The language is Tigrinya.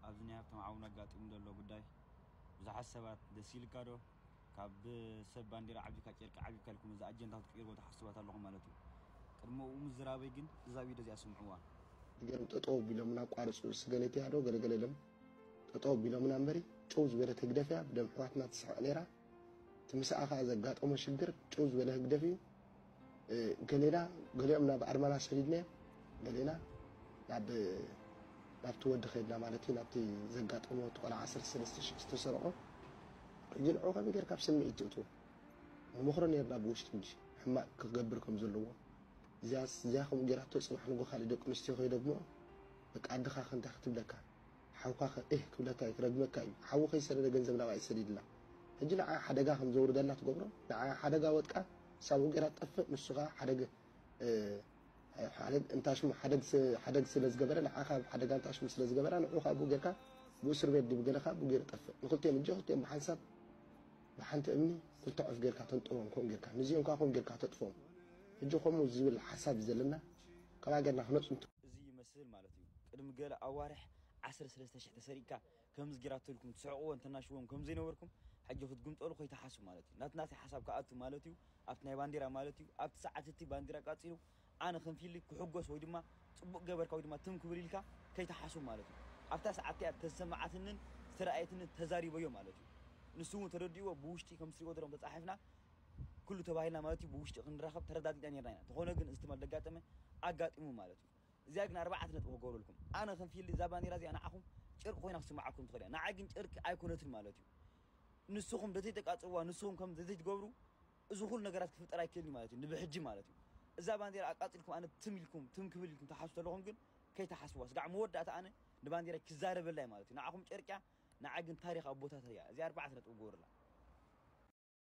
ኣብዚ ናይ ሃብቶም ዓውን ኣጋጢሙ ዘሎ ጉዳይ ብዙሓት ሰባት ደስ ኢልካ ዶ ካብ ሰብ ባንዲራ ዓቢካ ጨርቂ ዓቢካ ኢልኩም እዚ ኣጀንዳ ክትቅይርዎ ትሓስባት ኣለኹም ማለት እዩ። ቅድሚ ኡ ምዝራበይ ግን እዛ ቪድዮ እዚኣ ስምዕዋ። ገርም ጠጠው ቢሎምና ኣቋርፁ ስገለትያ ዶ ገለገለ ኢሎም ጠጠው ቢሎምና እምበሪ ጨው ዝበለት ህግደፍ እያ ብደም ኣሕዋትና ትስሕቕ ነይራ። እቲ ምስኣ ከዓ ዘጋጠሞ ሽግር ጭው ዝበለ ህግደፍ እዩ። ገሌና ገሊኦም ናብ ኣርማና ሰዲድናዮም፣ ገሌና ናብ ናብቲ ወዲ ከድና ማለት እዩ። ናብቲ ዘጋጠሞ እቲ ቆልዓ ዓሰርተ ሰለስተ ሽሕ ዝተሰርቆ ሕጂ ንዑ ከመይ ጌርካ ኣብ ስምዒት ትእትዎ? ንመኽሮ ነርና ብውሽጢ እንጂ ሕማቕ ክገብር ከም ዘለዎ። እዚኣ ከምኡ ጌራቶ ፅባሕ ንጎ ካልእ ደቂ ኣንስትዮ ከይደግሞ በቃ ኣድኻ ከንታ ክትብለካ ሓውካ ከ እህ ክብለካ እዩ ክረግመካ እዩ። ሓዉ ከይሰደደ ገንዘብ ናብኣ ይሰዲድላ። ሕጂ ንዓ ሓደጋ ከም ዘውርደላ ትገብሮ። ንዓ ሓደጋ ወጥቃ ሳብኡ ገይራ ትጠፍእ። ንሱ ከ ሓደግ እንታሽሙ ሓደግ ስለ ዝገበረ ንዓ ካብ ሓደጋ እንታሽሙ ስለ ዝገበራ ንዑ ካብኡ ጌርካ ብእስር ቤት ድብ ገለ ካብኡ ገይሩ ጠፍእ። ንክልቲኦም እጆ ክልቲኦም ብሓንሳብ ብሓንቲ እምኒ ክልተ ዑፍ ጌርካ ተንጥሮም ከም ጌርካ ንዚኦም ከ ከም ጌርካ ተጥፎም። ሕጂ ከምኡ ዝብል ሓሳብ እዩ ዘለና። ከማ ጌርና ክነፅንቶ እዚ ይመስል ማለት እዩ። ቅድሚ ገለ ኣዋርሕ ዓሰርተ ሰለስተ ሽሕ ተሰሪቅካ ከምዚ ጌራቶ ኢልኩም ትስሕቅዎ እንተናሽዎም ከም ዘይነበርኩም ሕጂ ክትግምጠሉ ከይትሓሱ ማለት እዩ። ናትናተይ ሓሳብ ክኣቱ ማለት እዩ። ኣብቲ ናይ ባንዲራ ማለት እዩ። ኣብቲ ሰዓት እቲ ባንዲራ ቃጺሉ ኣነ ከም ፊሊ ክሕጎስ ወይ ድማ ጽቡቅ ገበርካ ወይ ድማ ትም ክብል ኢልካ ከይትሓሱ ማለት እዩ። ኣብታ ሰዓት እቲኣ ተሰማዓትንን ዝተረኣየትንን ተዛሪበዮ ማለት እዩ። ንሱ እውን ተረዲእዎ ብውሽጢ ከም ትሪእዎ ዘለኹም ተጻሒፍና ኩሉ ተባሂልና ማለት እዩ። ብውሽጢ ክንራኸብ ተረዳዲእና ነርና ኢና። ተኾነ ግን እዚ ትማል ደጋጠመ ኣጋጢሙ ማለት እዩ። እዚኣ ግን ኣርባዕተ ነጥቢ ክገብረልኩም። ኣነ ከም ፊሊ እዛ ባንዴራ እዚኣ ንዓኹም ጨርቂ ኮይና ክስምዓኩም ትኽእል እያ። ንዓይ ግን ጨርቂ ኣይኮነትን ማለት እዩ። ንስኹም ደተይ ተቃጽዋ ንስኹም ከም ደተይ ትገብሩ እዚ ኩሉ ነገራት ክፍጠር ኣይክእልን ማለት እዩ። ንብሕጂ ማለት እዩ። እዛ ባንዴራ ኣቃጺልኩም ኣነ ትም ኢልኩም ትም ክብል ኢልኩም ትሓስቡ ዘለኹም ግን ከይትሓስዋ። ስጋዕ መወዳእታ ኣነ ንባንዴራ ክዛረበላ ማለት እዩ። ንዓኹም ጨርቂያ ንዓይ ግን ታሪኽ ኣቦታት እያ። እዚኣ ኣርባዕተ ነጥቢ ክገብረላ።